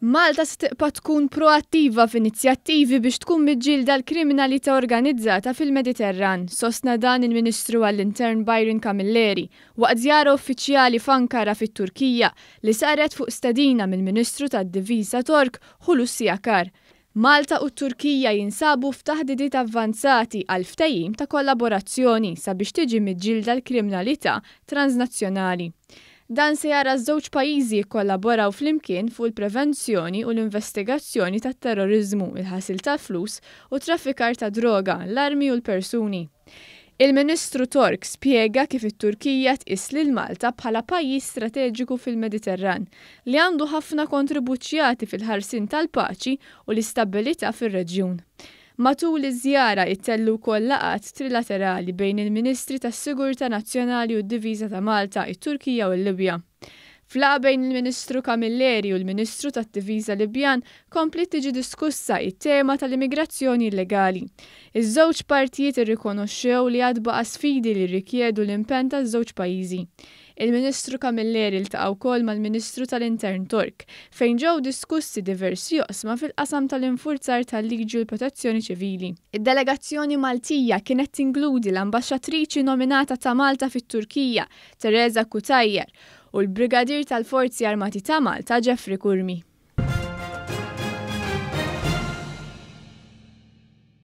Malta se tibqa' tkun proattiva f'inizjattivi biex tkun miġġielda l-kriminalità organizzata fil-Mediterran, sostna dan il-Ministru għall-Intern Byron Camilleri waqt żjara uffiċjali f'Ankara fit-Turkija li saret fuq stedina mill-Ministru tad-Difiża Tork Hulusi Akar. Malta u t-Turkija jinsabu f'taħdidiet avvanzati għal ftehim ta' kollaborazzjoni sabiex tiġi miġġielda l-kriminalità transnazzjonali. Dan se jara ż-żewġ pajjiżi jikkollaboraw flimkien fuq il-prevenzjoni u l-investigazzjoni tat-terroriżmu, il-ħasil tal-flus u traffikar ta' droga, l-armi u l-persuni. Il-Ministru Tork spjega kif it-Turkija tqis lil Malta bħala pajjiż strateġiku fil-Mediterran li għandu ħafna kontribuzzjoni fil-ħarsien tal-paċi u l-istabilità fir-reġjun. Matul iż-żjara ttellgħu wkoll laqgħat trilaterali bejn il-Ministri tas-Sigurtà Nazzjonali u d-Difiża ta' Malta, it-Turkija u l-Libja. F'laqgħa bejn il-Ministru Camilleri u l-Ministru tat-Difiża Libjan kompliet tiġi diskussa it-tema tal-immigrazzjoni illegali. Iż-żewġ partijiet irrikonoxxew li għad baqa' sfidi li rrikjedu l-impenn taż-żewġ pajjiżi. Il-Ministru Camilleri ltaqa' wkoll mal-Ministru tal-Intern Tork, fejn ġew diskussi diversi oqsma fil-qasam tal-infurzar tal-liġi u l-protezzjoni ċivili. Id-delegazzjoni Maltija kienet tinkludi l-ambaxxatriċi nominata ta' Malta fit-Turkija, Teresa Cutajar, u l-Brigadier tal-Forzi Armati ta' Malta, Jeffrey Curmi.